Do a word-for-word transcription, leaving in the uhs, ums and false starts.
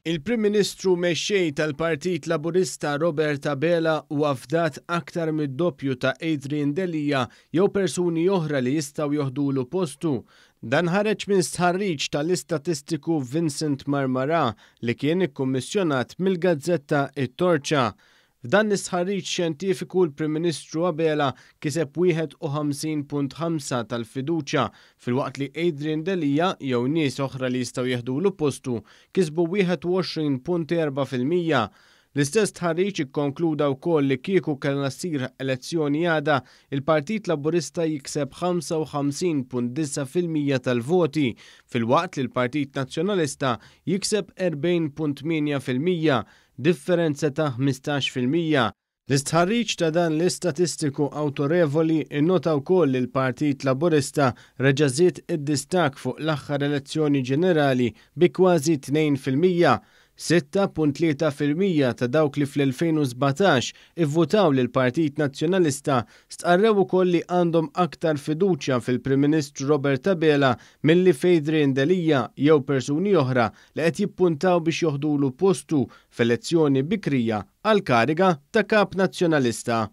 Il-Prim Ministru mexxej tal-Partit Laburista Robert Abela huwa fdat aktar mid-doppju ta' Adrian Delia jew persuni oħra li jistgħu joħdulu postu. Dan ħareġ minn stħarriġ tal-istatistiku Vincent Marmara li kien ikkummissjonat mill-gazzetta It-Torċa. F'dan l-istħarriġ xjentifiku, l-Prim Ministru Abela kiseb wieħed u ħamsin punt ħamsa tal-fiduċja, filwaqt li Adrian Delia jew nies oħra li jistgħu jeħdulu postu kisbu wieħed u għoxrin punt erbgħa fil-mija. L-istess stħarriġ ikkonkluda wkoll li kieku kellha ssir elezzjoni għada, il-Partit Laburista jikseb ħamsa u ħamsin punt disgħa fil-mija tal-voti, filwaqt li l-Partit Nazzjonalista jikseb erbgħin punt tmienja fil-mija, differenza ta' ħmistax fil-mija. L-istħarriġ ta' dan l-istatistiku autorevoli innota wkoll li l-Partit Laburista reġa' żied id-distakk fuq l-aħħar elezzjoni ġenerali bi kważi tnejn fil-mija. sitta punt tlieta fil-mija ta' dawk li fl-elfejn u sbatax ivvutaw lil Partit Nazzjonalista stqarrew ukoll li għandhom aktar fiduċja fil-Prim Ministru Robert Abela milli f'Adrian Delia jew persuni oħra li qed jippuntaw biex joħdulu postu f'elezzjoni bikrija għal kariga ta' kap nazzjonalista.